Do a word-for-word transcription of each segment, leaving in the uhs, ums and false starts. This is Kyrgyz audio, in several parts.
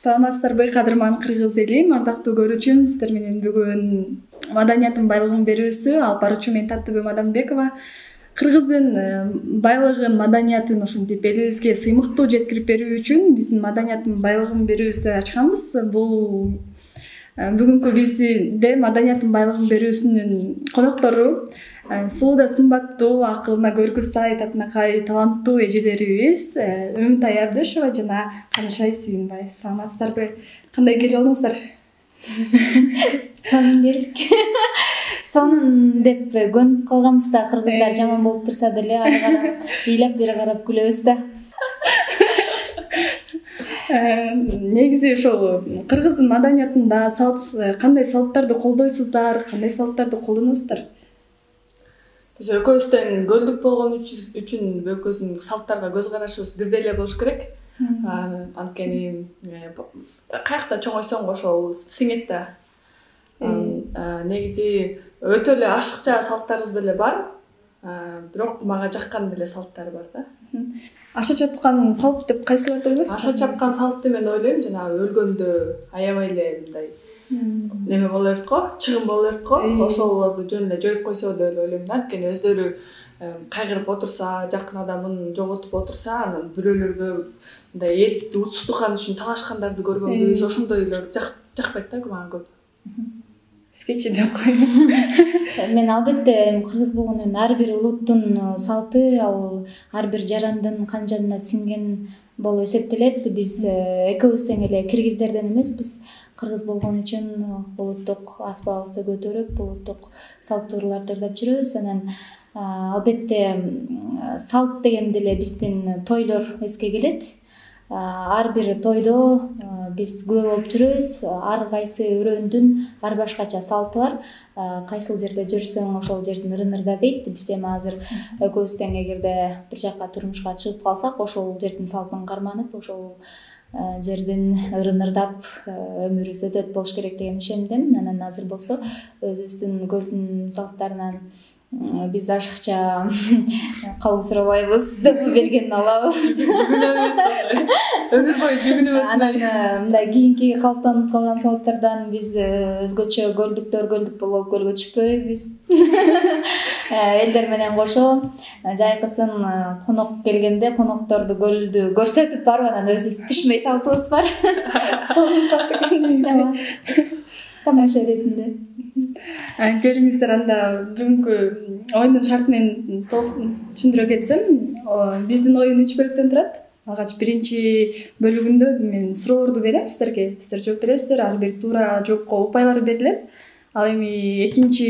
Саламатсыздарбы, кадырман кыргыз эли, ардактуу көрүүчүм, сиздер менен бүгүн маданияттын байлыгын берүүсү алып баруучу мен Таттыбү Маданбекова. Кыргыздын байлыгын, маданиятын ушинтип элибизге сыймыктуу жеткирип берүү үчүн биздин маданияттын байлыгын берүүбүздү ачканбыз. Бул бүгүнкү бизде маданияттын байлыгын берүүсүнүн коноктору сууда сымбаттуу, акылына көркү сай, татынакай, таланттуу эжелерибиз Үмүтай Абдышева жана Канышай Сүйүнбай. Саламатсыздарбы? Кандай келип алдыңыздар? Сонун келдик. Сонун деп көнүп калганбыз да, кыргыздар жаман болуп турса деле ары карап ыйлап бери карап күлөбүз да. Негизи ошол кыргыздын маданиятында салт кандай салттарды колдойсуздар, кандай салттарды колдоносуздар? Биз экөөбүз тең көлдүк болгон үчүн экөөбүздүн салттарга көз карашыбыз бирдей эле болуш керек. Анткени каякта чоңойсоң ошол сиңет да. Негизи өтө эле ашыкча салттарыбыз деле бар. Бирок мага жаккан деле салттар бар да. Аша чапкан салт деп кайсыларды ойлойсуз? Аша чапкан салтты мен ойлойм, жанагы өлгөндө аябай эле мындай неме боло берет го, чыгым боло берет го. Ошолорду жөн эле жоюп койсо деп ойлойм да. Анткени өздөрү кайгырып отурса, жакын адамын жоготуп отурса, анан бирөөлөргө мындай эт утуздукан үчүн талашкандарды көргөнбүз. Ошондойлор жакпайт да мага көп. Скетчи деп коеюн. Мен албетте кыргыз болгондон ар бир улуттун салты, ал ар бир жарандын канжанына сиңген болуп эсептелет. Биз экөөбүз тең эле киргиздерден эмеспиз. Кыргыз болгон үчүн улуттук аспабыбызды көтөрүп, улуттук салт туураларды ырдап жүрөбүз. Анан албетте салт дегенде эле биздин тойлор эске келет. Ар бир тойдо биз күбө болуп жүрөбүз. Ар кайсы өрөөндүн ар башкача салты бар. Кайсыл жерде жүрсөң, ошол жердин ырын ырда дейт. Биз эми азыр экөөбүз тең эгерде бир жака турмушка чыгып калсак, ошол жердин салтын карманып, ошол жердин ырын ырдап өмүрүбүз өтөт болуш керек деген ишенимдемин. Анан азыр болсо өзүбүздүн көлдүн салттарынан биз ашыкча калуу сурабайбыз деп берген алабыз. Өмүр бою жүгүнүп өтмөй. Анан мындай кийинки калыптанып калган салттардан биз өзгөчө көлдүктөр көлдүк болуп көлгө түшпөйбүз. Элдер менен кошо жайкысын конок келгенде конокторду көлдү көрсөтүп барып анан өзүбүз түшмөй салтыбыз бар. Сонун салт экен. Тамаша иретинде. Келиңиздер, анда бүгүнкү оюндун шарты менен түшүндүрө кетсем, биздин оюн үч бөлүктөн турат. Алгач биринчи бөлүгүндө мен суроолорду берем сиздерге, сиздер жооп бересиздер, ар бир туура жоопко упайлар берилет. Ал эми экинчи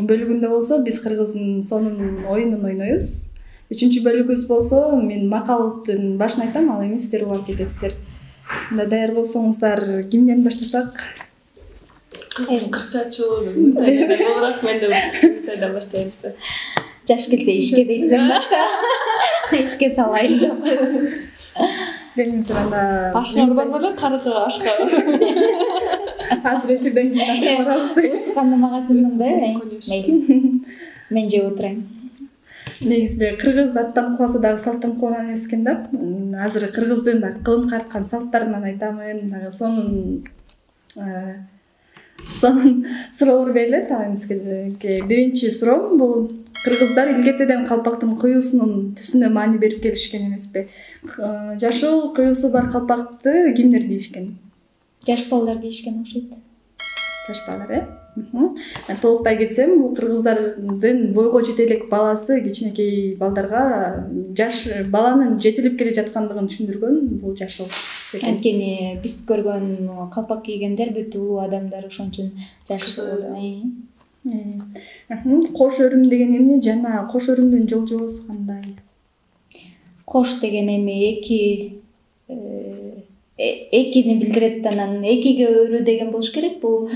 бөлүгүндө болсо биз кыргыздын сонун оюнун ойнойбуз. Үчүнчү бөлүгүбүз болсо мен макалдын башын айтам, ал эми сиздер улап кетесиздер. Анда даяр болсоңуздар, кимден баштасак? Кыздын кырсачулугу Үмүтайдан болорак, мен да Үмүтайдан баштайбыз да. Жаш келсе ишке дейтсең да. Ишке салайын деп коебуз. Келиңиздер, анда ашканы барбы да, карыкка ашканы. Азыр эфирден кийин ашка барабыз. Устуканды мага сындың да? Мейли. Мен жеп отурайын. Негизи кыргыз аттанып калса дагы салттан калган эмес экен да. Азыр кыргыздын дагы кылымга арткан салттарынан айтамын, дагы сонун сонун суроолор берилет. Биринчи суроо бул кыргыздар илгертеден калпактын куюусунун түсүнө маани берип келишкен эмеспи? Жашыл куюусу бар калпакты кимдер кийишкен? Жаш балдар кийишкен окшойт. Жаш балдар, э? Толуктай кетсем, бул кыргыздардын бойго жете элек баласы кичинекей балдарга жаш баланын жетилип келе жаткандыгын түшүндүргөн бул жашыл. Анткени биз көргөн калпак кийгендер бүт улуу адамдар, ошон үчүн жашыл. Кош өрүм деген эмне жана кош өрүмдүн жолжобосу кандай? Кош деген эми эки экини билдирет, анан экиге өрүү деген болуш керек. Бул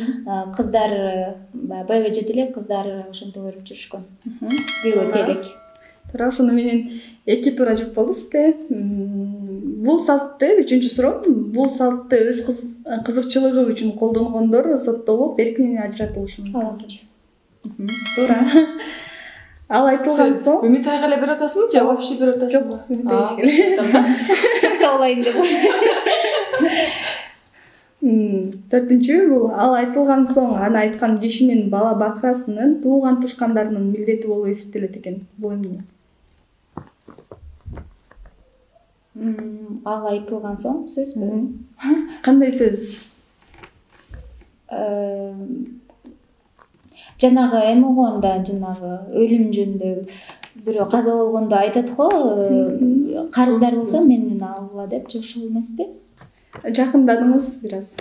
кыздар бойго жете элек кыздар ошентип өрүп жүрүшкөн. Күйгө телек. Туура, ошону менен эки туура жооп болду сизде. Бул салтты, үчүнчү суроо, бул салтты өз кызыкчылыгы үчүн колдонгондор соттолуп, эрк менен ажыратылышы мүмкүн. Туура. Ал айтылган соң Үмүтайга эле берип атасыңбы же вообще берип атасыңбы? Жок, Үмүтайга эле. Тоолайын деп. төртүнчү бул ал айтылган соң аны айткан кишинин бала бакырасынын тууган тушкандарынын милдети болуп эсептелет экен. Бул эмне? Ал айтылган соң сөзбү? Кандай сөз? Жанагы эме болгондо, жанагы өлүм жөнүндө бирөө каза болгондо айтат го, карыздар болсо менден алгыла деп, же ошол эмеспи? Жакындадыңыз бир аз.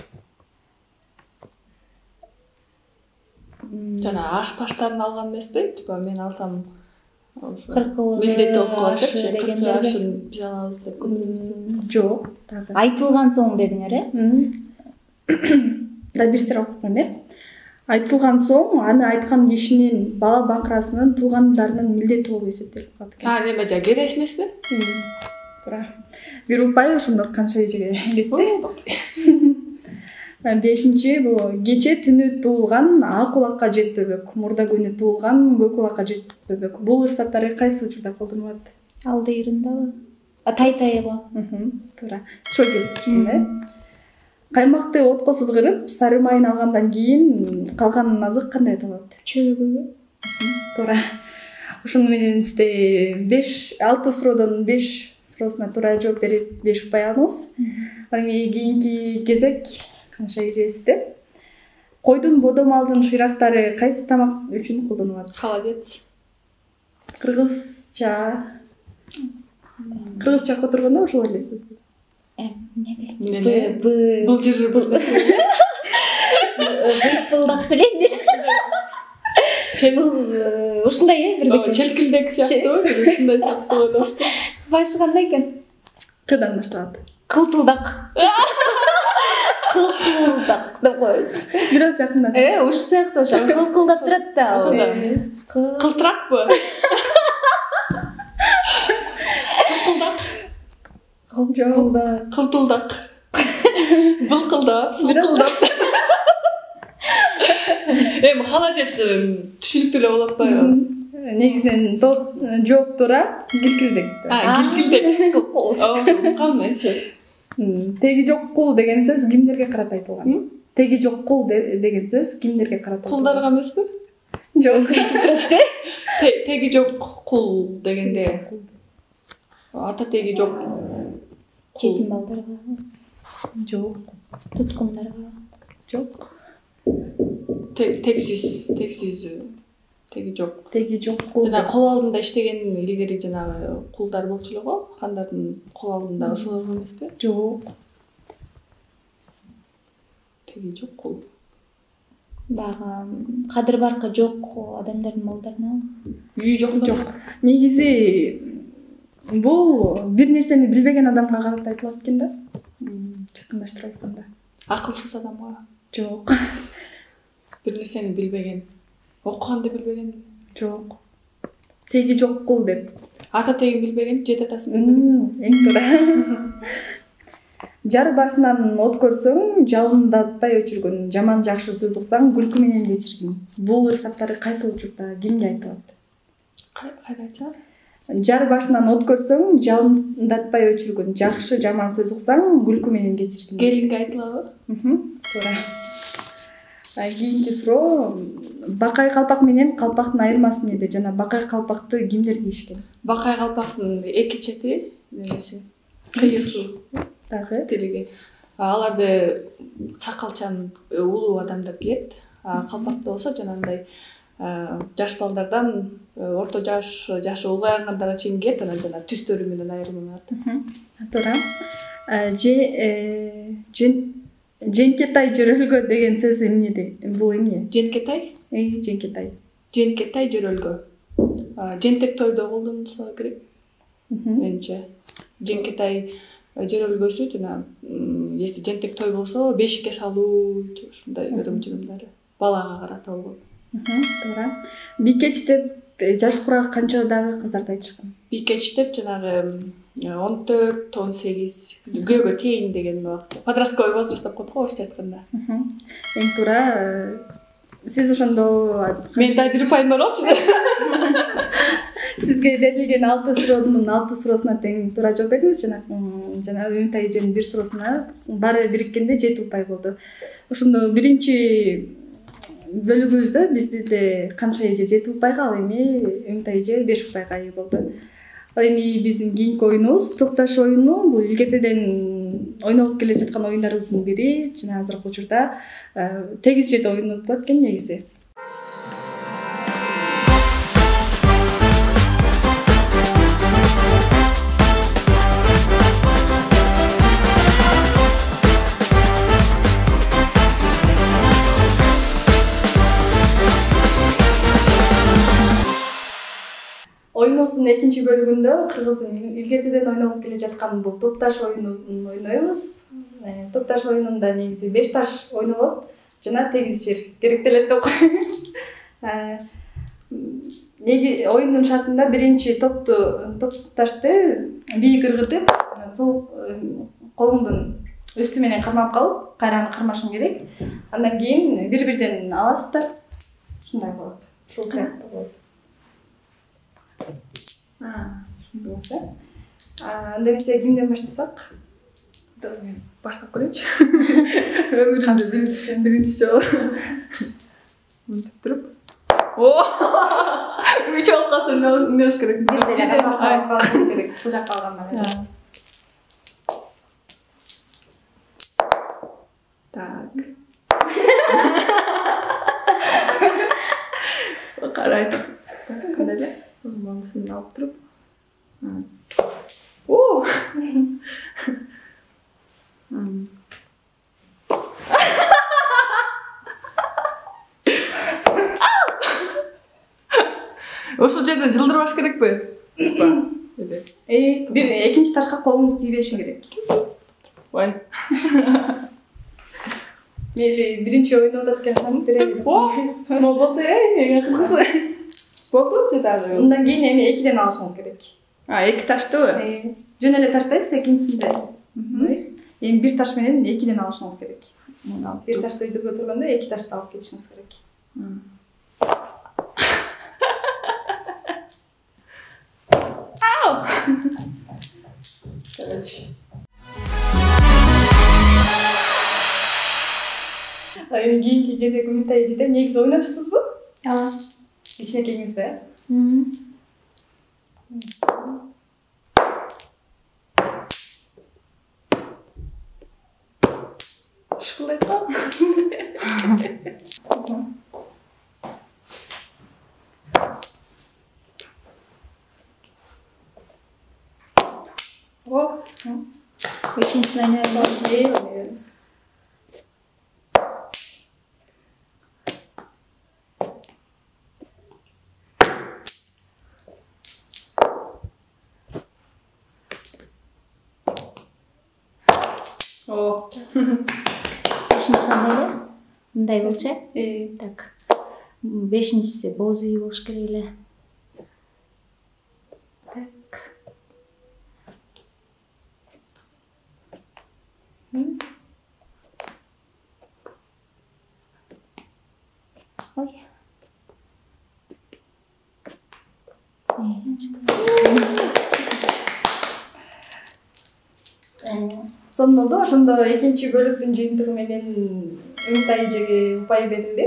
Жана аш-паштарын алган эмеспи? Типа мен алсам кыркылык милдет болуп калат депчи, дегендер. ашын биз алабыз деп көтөрөбүз. Жок. Айтылган соң дедиңер, э? Да бирсер окуп коеюн, э? Айтылган соң аны айткан кишинин бала бакырасынын туугандарынын милдети болуп эсептелип калат экен. А, неме жа кереш эмеспи? Туура. Бир упай ошондо канча эжеге кетти? Бешинчи бул кече түнү туулган ак кулакка жетпөбөк, мурда күнү туулган көк кулакка жетпөбөк. Бул ырсаттары кайсы учурда колдонулат? Алдыйрындабы? А тай-тайга. Туура. Ошол кез түшүндүм, э? Каймакты отко сызгырып, сары майын алгандан кийин калган азык кандай аталат? Чөгү. Туура. Ошону менен сизде беш алты суроодон беш суроосуна туура жооп берип беш упай алдыңыз. Ал эми кийинки кезек канча эжесизде? Койдун бодомалдын шыйрактары кайсы тамак үчүн колдонулат? Холодец. Кыргызча. Кыргызча которгондо ошол эле сөз. Эмне? Бул жыр бул нерсе. Быйпылдак билет. Ушундай, э, бирдеке. Челкилдек сыяктуу, бир ушундай сыяктуу болот. Башы кандай экен? Кыдан башталат. Кылтылдак. Кылтылдак деп коебуз. Бир аз жакындат. Э, ушу сыяктуу ошо кылкылдап турат да. Ошондо. Кылтыракпы? Кылтылдак. Кылтылдак. Кылтылдак. Былкылдап, сылкылдап. Эми холодец түшүнүктүү эле болуп атпайбы? Негизинен жооп туура, килкилдек. А, килкилдек. Ошо кам менчи. Теги жок кул деген сөз кимдерге карата айтылган? Теги жок кул деген сөз кимдерге карата? Кулдарга эмеспи? Жок. Теги жок кул дегенде ата теги жок. Жетим балдарга. Жок. Туткундарга. Жок. Тексиз, тексиз теги жок. Теги жок кул. Жана кол алдында иштеген илгери жанагы кулдар болчу эле го, хандардын кол алдында ошолор эмеспи? Жок. Теги жок кул. Бага кадыр баркы жок адамдардын балдарына. Үйү жок Жок. Негизи бул бир нерсени билбеген адамга карата айтылат экен да. Жакындаштырып айтканда. Акылсыз адамга. Жок. Бир нерсени билбеген. Окуганды билбеген. Жок. Теги жок кул деп. Ата тегин билбеген, жет атасын билбеген. Эң туура. Жар башынан от көрсөң, жалындатпай өчүргөн, жаман жакшы сөз уксаң, күлкү менен кечиргин. Бул ырсаттары кайсы учурда кимге айтылат? Кайда айтат? Жар башынан от көрсөң, жалындатпай өчүргөн, жакшы жаман сөз уксаң, күлкү менен кечиргин. Келинге айтылабы? Туура. Кийинки суроо, бакай калпак менен калпактын айырмасы эмнеде жана бакай калпакты кимдер кийишкен? Бакай калпактын эки чети немеси кыйысуу Дагы тилиги. Аларды сакалчан улуу адамдар кийет. Калпакта болсо жанагындай жаш балдардан орто жаш, жашы улгайгандарга чейин кийет, анан жана түстөрү менен айырмаланат. Туура. Же Женкетай жөрөлгө деген сөз эмнеде? Бул эмне? Женкетай? Эй, женкетай. Женкетай жөрөлгө. Жентек тойдо колдонулса керек. Менче. Женкетай жөрөлгөсү жана если жентек той болсо бешикке салуу, ушундай ырым-жырымдары балага карата болгон. Туура. Бикеч деп жаш курак канчадагы кыздарды айтышкан? Бикеч деп жанагы он төрт, он сегиз күйөөгө тейин деген убакыт. Подростковый возраст деп коет го орусча айтканда. Эң туура. Сиз ошондо мен да бир упайым бар болчу. Сизге берилген алты суроонун алты суроосуна тең туура жооп бердиңиз жана жана Үмүнтай эженин бир суроосуна баары бириккенде жети упай болду. Ошондо биринчи бөлүгүбүздө бизде канча эже жети упайга, ал эми Үмүнтай эже беш упайга ээ болду. Ал эми биздин кийинки оюнубуз топташ оюну. Бул илгертеден ойнолуп келе жаткан оюндарыбыздын бири. Жана азыркы учурда тегиз жет оюну болот экен негизи. Оюнубуздун экинчи бөлүгүндө кыргыздын илгертеден ойнолуп келе жаткан бул топташ оюнун ойнойбуз. Топташ оюнунда негизи беш таш ойнолот жана тегиз жер керектелет деп коеюн. Неги оюндун шартында биринчи топту топташты бийик ыргытып, сол колуңдун үстү менен кармап калып, кайра аны кармашың керек. Андан кийин бири-бирден аласыздар. Ушундай болот. Ушул сыяктуу болот. А, ушундай болсо. Анда эмесе кимден баштасак? Баштап көрөйүнчү. Өмүрүмдө биринчи жолу. Мынтип туруп. О! Үч болуп калса эмне болуш керек? Бирден карап калышыбыз керек. Бул жакка алгандан. Так. Карайтып. Кандай эле? Монусун алып туруп. О! Ошол жерден жылдырбаш керекпи? Э, бир экинчи ташка колуңуз тийбеши керек. Ой. Мели биринчи ойноп аткан шанс берели. О, болду э, акыркысы. Болду же дагы? Андан кийин эми экиден алышыңыз керек. А, эки таштыбы? Жөн эле таштайсыз экинчисинде. Эми бир таш менен экиден алышыңыз керек. Бир ташты өйдөгө турганда эки ташты алып кетишиңиз керек. Ау! Короче. Эми кийинки кезек Үмүнтай эжеде негизи ойночусузбу? Ооба. Кичинекейиңизде. Ушулай го. О, экинчисин ойнойбуз. О. Бешинчиси кандай эле? Мындай болчу э? Так. Бешинчиси боз үй болуш керек эле. Так. Ой. Сонун ошондо экинчи бөлүктүн жыйынтыгы менен Үмүнтай эжеге упай берилди.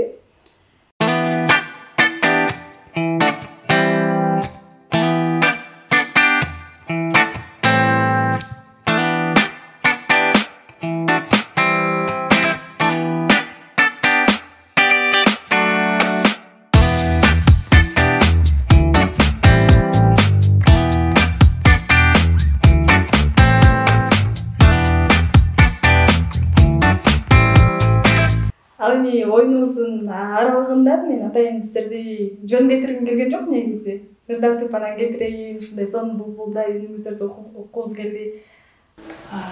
Ал эми оюнубуздун аралыгында мен атайын сиздерди жөн кетиргим келген жок негизи. Ырдатып анан кетирейин, ушундай сонун булбулдай үнүңүздөрдү уккубуз келди.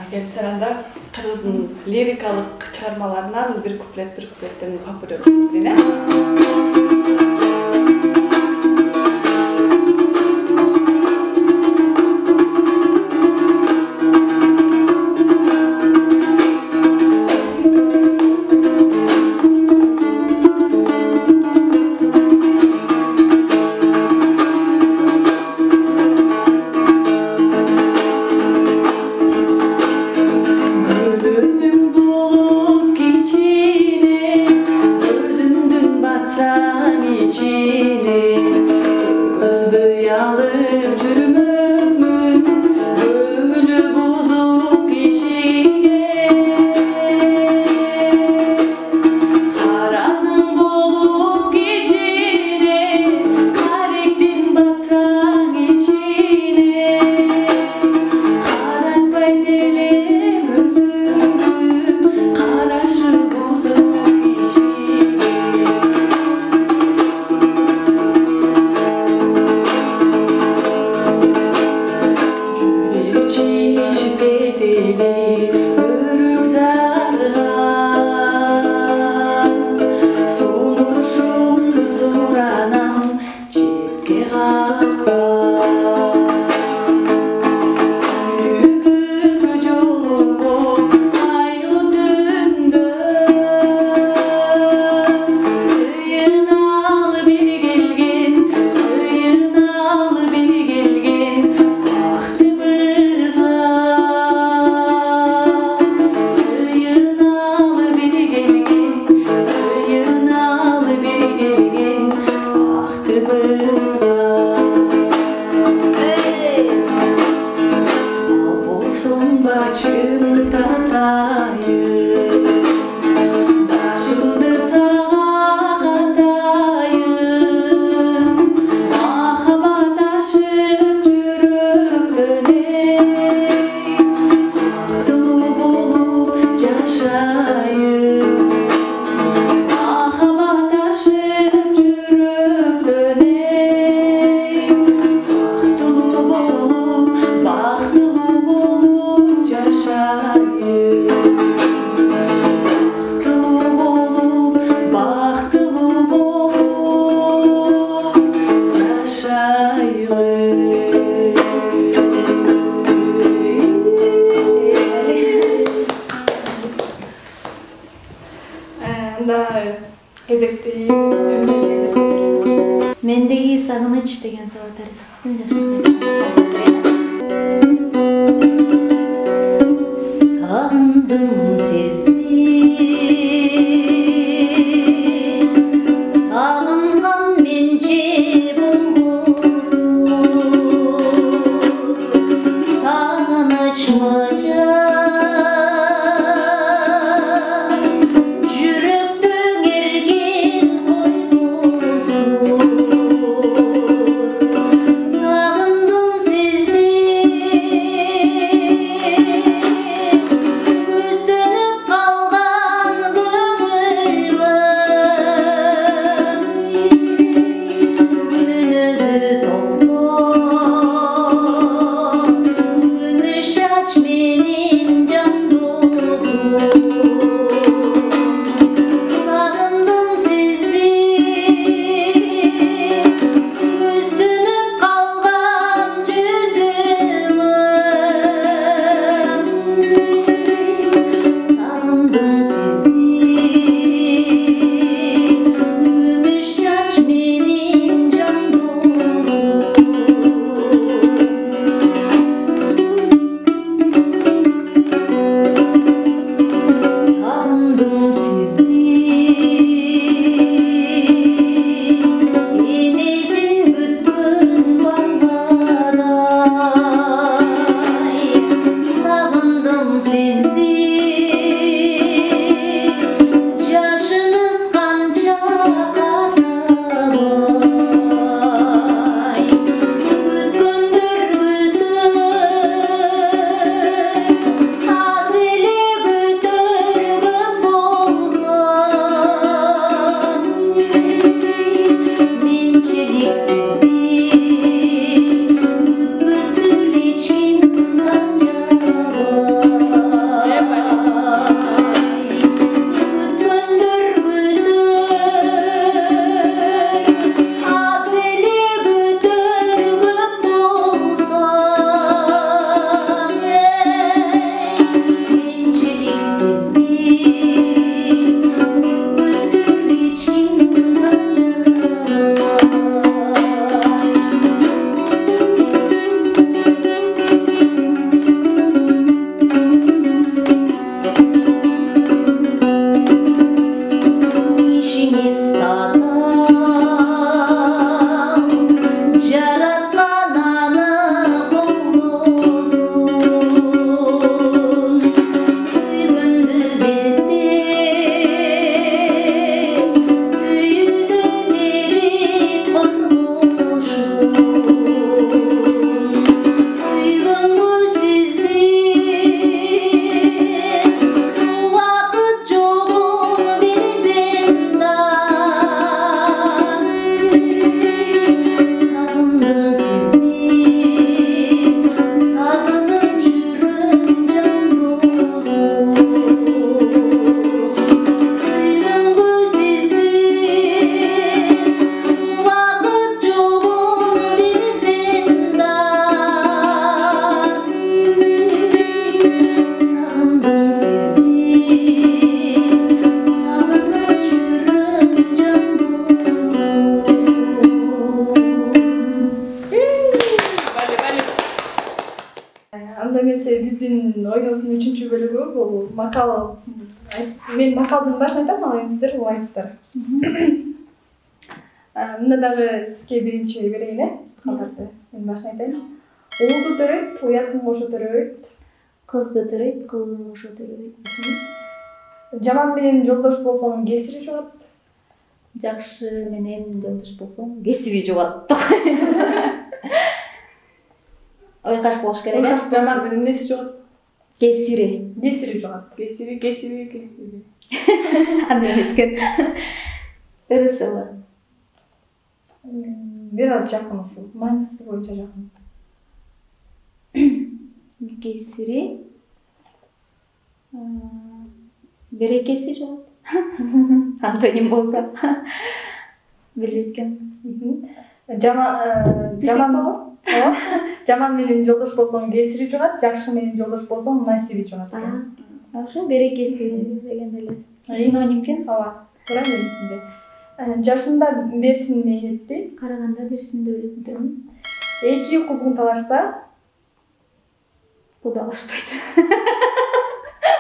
Келсер анда кыргыздын лирикалык чыгармаларынан бир куплет бир куплеттен попуре окуп берейин, э? кичине көзбөй алып жүрмөкмүн көңүлү бузук кишиге караның болуп кичине каректин батсаң ичине каратпай делем өзүңдү карашы бузук кишиге жүрек чишип кетели өрүк зарга сунушумду суранам четке каппа сүйүүбүзгө жолугуп айлуу түндө сыйыналы бир келген сыйыналы бир келген бактыбызга сыйыналы бир келген сыйыналы бир келген бактыбызга ал болсоң бачымдыктан тайып башымды сага катайын махаббат ашып жүрөктөн эй бактылуу болуп жашайын махаббат ашып жүрөктөн эй бактылуу болуп бактылуу болуп жашайын бактылуу болуп бактылуу болуп жашайын. Анда кезекти эмне чыгарсак? Мендеги сагыныч деген Сабатар Исаковдун жаштык сагындым сизди сагынган менче болбосту сагыныч мыжа жүрөктүң эрген койбосту сагындым ойнобуздун үчүнчү бөлүгү бул макал. Мен макалдын башын айтам, ал эми сиздер улайсыздар. Мында дагы сизге биринчи берейин, э? Калдарды. Мен башын айтайын. Уулду төрөйт, уятын кошо төрөйт. Кызды төрөйт, кылын кошо төрөйт. Жаман менен жолдош болсоң, кесири жугат. Жакшы менен жолдош болсоң, кесиби жугат. Ойкаш болуш керек, э? Жаман менен эмнеси жугат? Кесири. Кесири жугат. Кесири, кесиби. Андай эмес экен. Ырысыбы. Бир аз жакын ушул. Мааниси боюнча жакын. Кесири. Берекеси жугат. Антоним болсо. Билбейт экен. Жаман жаман Жаман менен жолдош болсоң, кесири жугат, жакшы менен жолдош болсоң, насиби жугат. Ошо берекеси деген эле. Синоним экен. Ооба. Туура менсинде. Жашында берсин мейнетти, Караганда берсин өлөттү. эки кузгун талашса, кудалашпайт.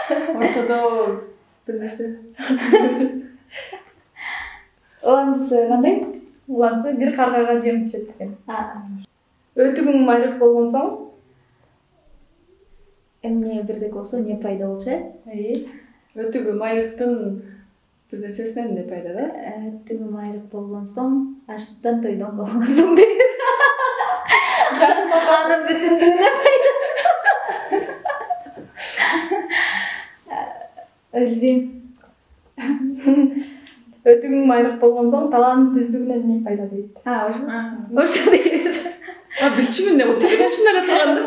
Ортодо бир нерсе. Уландысы кандай? уланса бир каргага жем түшөт экен. Өтүгүң майрык болгон соң, Эмне бирдек болсо не пайда болчу, э? Өтүгү майрыктын бир нерсесинен эмне пайда да? Өтүгү майрык болгон соң, аштан тойдон болгон соң дейт. Анын бүтүндүгүнө пайда. Билбейм. өтүгүң майрык болгон соң, талант түздүгүнөн эмне пайда дейт. А, ошо. Ошо дейт. А, билчүмүн, өтүгүн үчүн эле турганда.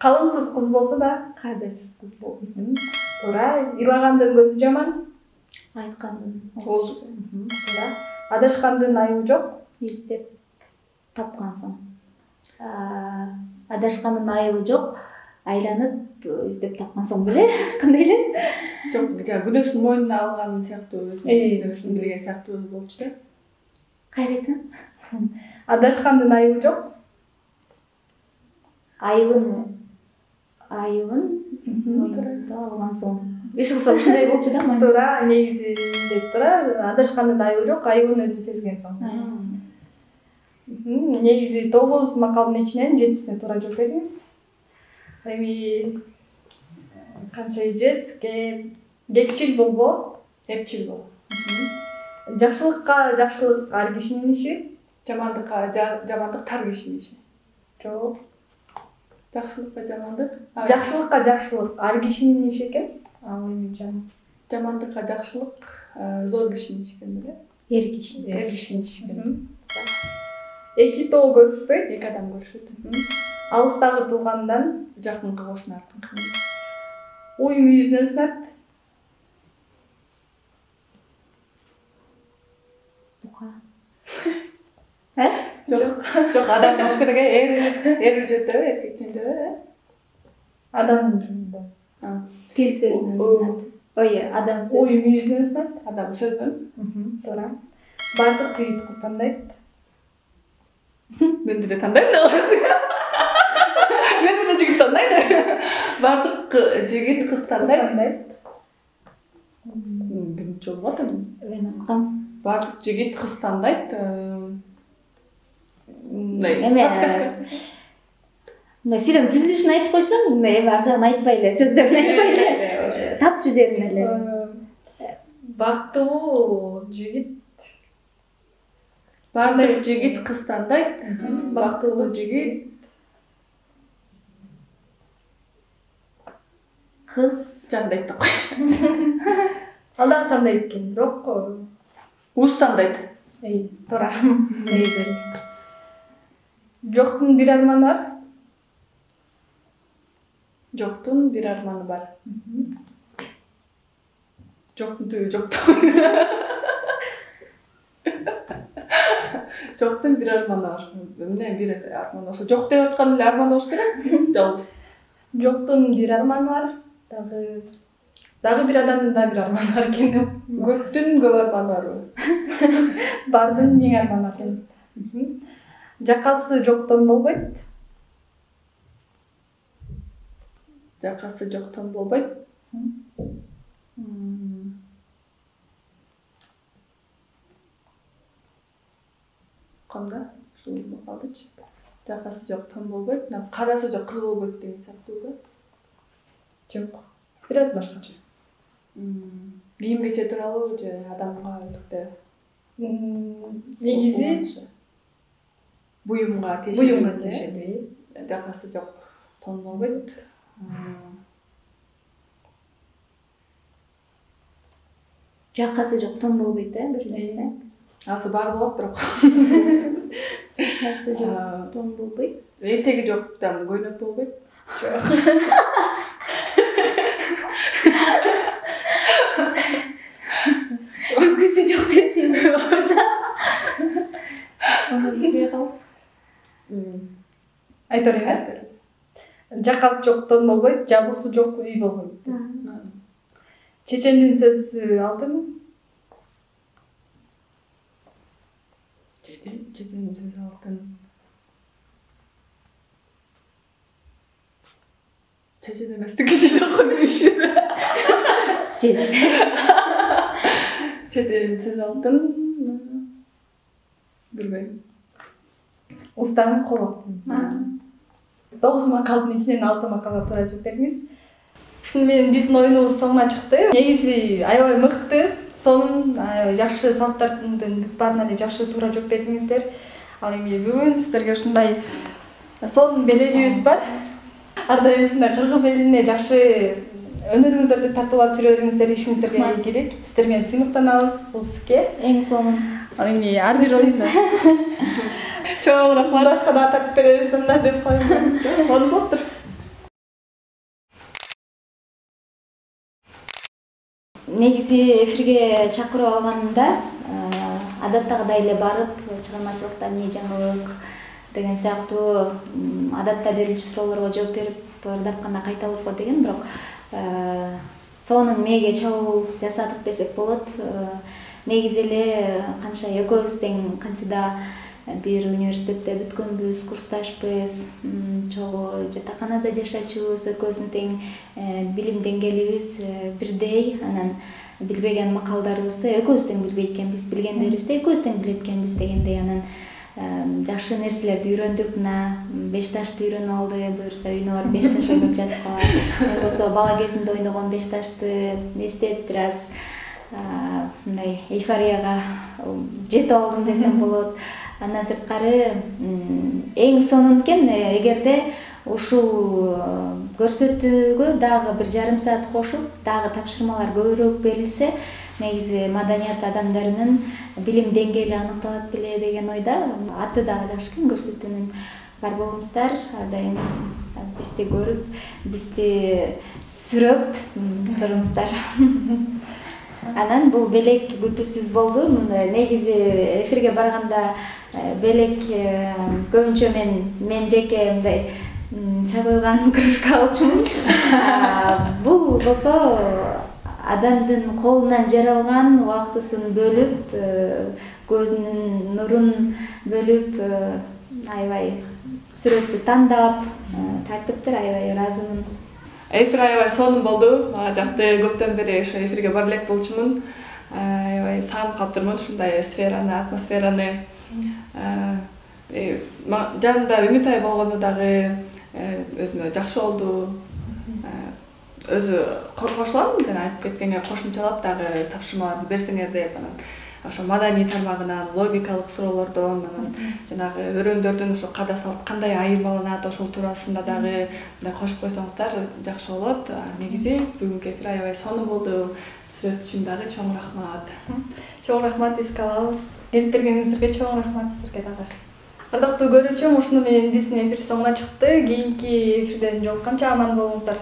Калыңсыз кыз болсо да, Кадайсыз кыз болду. туура. Ылагандын көзү жаман, Айткандын Оозу. туура. Адашкандын айыбы жок. издеп тапкан соң. Адашкандын айыбы жок, айланып издеп тапкан соң беле? Кандай эле? Жок, жана күнөөсүн мойнуна алган сыяктуу, өзүнүн нерсесин билген сыяктуу болчу да. Кайра айтсаң? Адашкандын айыбы жок. Айыбын айыбын мойнуна алган соң. Иш кылса ушундай болчу да, мааниси. Туура, негизи деп туура. Адашкандын айыбы жок, айыбын өзү сезген соң. Негизи тогуз макалдын ичинен жетисине туура жооп бердиңиз. Эми канча эжес, кепчил болбо, Эпчил бол. жакшылыкка жакшылык ар кишинин иши. Жамандыкка жамандык тар кишинин иши. Жок. Жакшылыкка жамандык. Жакшылыкка жакшылык ар кишинин иши экен. Ал эми жаман. Жамандыкка жакшылык зор кишинин иши экен беле? Эр киши. Эр кишинин иши экен. Эки тоо көрүшпөйт, Эки адам көрүшөт. алыстагы туугандан Жакынкы кошунар. уй мүйүзүнөн сынат. Бука. Э? Жок, жок, адам болуш керек, эр эр үчөтө, эркек үчөтө. Адамдын жөнүндө. Тил сөзүнөн сынат. Ой, адам сөзүнөн. Уй мүйүзүнөн сынат. Адам сөздөн. Туура. Бардык жигит кыз тандайт. Мен деле тандайм да. Мен деле жигит тандайм. Бардык жигит кыз тандайт. Биринчи жолу атам. Мен уккам. Бардык жигит кыз тандайт. Эме мындай сүйлөм түзүлүшүн айтып койсоң, эми ар жагын айтпай эле, сөздөрүн айтпай эле, тапчу жерин эле. Бактылуу жигит. Бардык жигит кыз тандайт. Бактылуу жигит Кыз жандайт деп койсун. Ал дагы тандайт экен, бирок Уз тандайт. эй, туура. Жоктун бир арманы бар. Жоктун бир арманы бар. Жоктун түбү жок. Жоктун бир арманы бар. Эмне бир арман ошо жок деп аткан эле арман болуш керек? Жалгыз. Жоктун бир арманы бар. Дагы дагы бир адамдын да бир арманы бар экен. Көптүн көп арманы барбы? Бардын эң арманы бар экен. Жакасы жоктон болбойт. Жакасы жок тон болбойт. Кандай? Ушул калдычы. Жакасы жок тон болбойт. Карасы жок кыз болбойт деген сыяктуу да. Жок. Бир аз башкача. Кийим кече тууралуу же адамга өтүктө? Негизи буюмга тиешеби. буюмга тиешеби. Жакасы жок тон болбойт. Жакасы жок тон болбойт э бир нерсе. Асы бар болот бирок. Жакасы жок тон болбойт. Этеги жок там көйнөк болбойт. Көзү жок деп. Аны билбей калдык. Айта берейин. Жакасы жок тон болбойт, жабуусу жок үй болбойт. Чечендин сөзү алтын. Чечендин сөзү алтын. Чечен эместик киши окуйшун. Чечендин сөзү алтын. Билбейм. Устанын колу. Тогуз макалдын ичинен алты макалга туура жооп бериңиз. Ушуну менен биздин оюнубуз соңуна чыкты. Негизи аябай мыкты, сонун, жакшы салттардын бүт баарына эле жакшы туура жооп бердиңиздер. Ал эми бүгүн сиздерге ушундай сонун белегибиз бар. Ар дайым ушундай кыргыз элине жакшы өнөрүңүздөрдү тартуулап жүрө бериңиздер, ишиңиздерге ийгилик. Сиздер менен сыймыктанабыз бул сизге. Эң сонун. Ал эми ар бир оюнда чоң рахмат. Башка да тартып беребиз да деп коеюн. Сонун болуптур. Негизи эфирге чакырып алганымда адаттагыдай эле барып, чыгармачылыкта эмне жаңылык деген сыяктуу адатта берилчү суроолорго жооп берип, ырдап кана кайтабыз го деген, бирок сонун мээге чабуул жасадык десек болот. Негизи эле канча экөөбүз тең кантида бир университетте бүткөнбүз, курсташпыз, чогуу жатаканада жашачубуз, экөөбүздүн тең билим деңгээлибиз бирдей, анан билбеген макалдарыбызды экөөбүз тең билбейт экенбиз, билгендерибизди экөөбүз тең билет экенбиз дегендей, анан жакшы нерселерди үйрөндүк. Мына беш ташты үйрөнүп алды, буюрса үйүнө барып беш таш ойноп жатып калат. Болбосо бала кезинде ойногон беш ташты эстеп бир аз мындай эйфорияга жетип алдым десем болот. Андан сырткары эң сонун экен, эгерде ушул көрсөтүүгө дагы бир жарым саат кошуп, дагы тапшырмалар көбүрөөк берилсе, негизи маданият адамдарынын билим деңгээли аныкталат беле деген ойда. Аты дагы жакшы экен көрсөтүүнүн. Бар болуңуздар, ар дайым бизди көрүп, бизди сүрөп туруңуздар. Анан бул белек күтүүсүз болду. Негизи эфирге барганда белек көбүнчө мен мен жеке мындай чай койгон кружка алчумун. Бул болсо адамдын колунан жаралган, убактысын бөлүп, көзүнүн нурун бөлүп, аябай сүрөттү тандап тартыптыр. Аябай ыраазымын. Эфир аябай сонун болду. Мага жакты, көптөн бери ошо эфирге бара элек болчумун. Аябай сагынып калыптырмын ушундай сфераны, атмосфераны. Жанымда Үмүтай болгону дагы өзүмө жакшы болду. Өзү кошулам, жана айтып кеткенге кошумчалап дагы тапшырмаларды берсеңер деп, анан ошо маданий тармагынан, логикалык суроолордон, анан жанагы өрөөндөрдүн ошо када салт кандай айырмаланат, ошол туурасында дагы мындай кошуп койсоңуздар жакшы болот. Негизи бүгүнкү эфир аябай сонун болду. Сүрөт үчүн дагы чоң рахмат. Чоң рахмат, эске алабыз. Келип бергениңиздерге чоң рахмат сиздерге дагы. Ардактуу көрүүчүм, ушуну менен биздин эфир соңуна чыкты. Кийинки эфирден жолукканча аман болуңуздар.